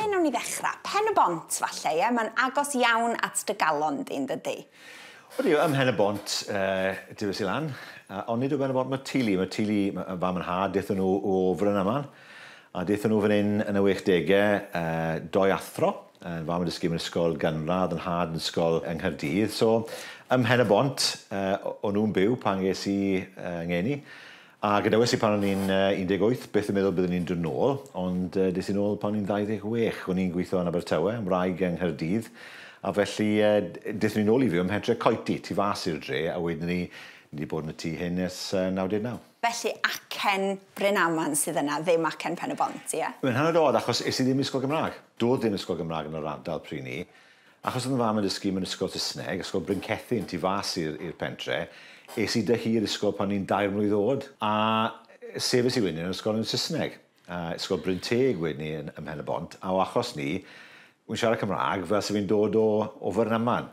Ble nawn ni ddechrau? Pen y Bont, falle, ie? Mae'n agos iawn at dy galon di, yn dydi? Odi, ym Mhen y Bont, tyfes i lan, ond nid o Ben y Bont mae teulu. Mae teulu, fam yn nhad, dethon nhw o Frynaman, a dethon nhw fan hyn yn y 60au, doi athro, fam yn dysgu mewn ysgol gynradd, yn nhad yn ysgol yng Nghaerdydd. So, ym Mhen y Bont, o'n nhw'n byw pan ges i ngeni. A gadawes i pan o'n i'n 18, byth yn meddwl byddwn i'n dod nôl, ond des i nôl pan o'n i'n 26. O'n i'n gweithio yn Abertawe, yn wraig yng Nghaerdydd, a felly dethon ni nôl i fyw ym Mhentre Coety, tu fas i'r dre, a wedyn ni, ni wedi bod yn y tŷ hyn ers 99. Felly acen Brynaman sydd yna, ddim acen Pen y Bont, ie? Mae'n hynod od, achos es i ddim i ysgol Gymraeg. Doedd ddim ysgol Gymraeg yn yr ardal pryd 'ny. Achos oedd 'y fam yn dysgu mewn ysgol Saesneg, Ysgol Bryncethin, tu fas i'r pentre, es i 'da hi i'r ysgol pan o'n i'n 3 mlwydd oed, a sefys i wedyn yn ysgol yn Saesneg. Ysgol Bryn Teg wedyn ni ym Mhen y Bont, a o achos 'ny, wy'n siarad Cymraeg fel se fi'n dod o Frynaman.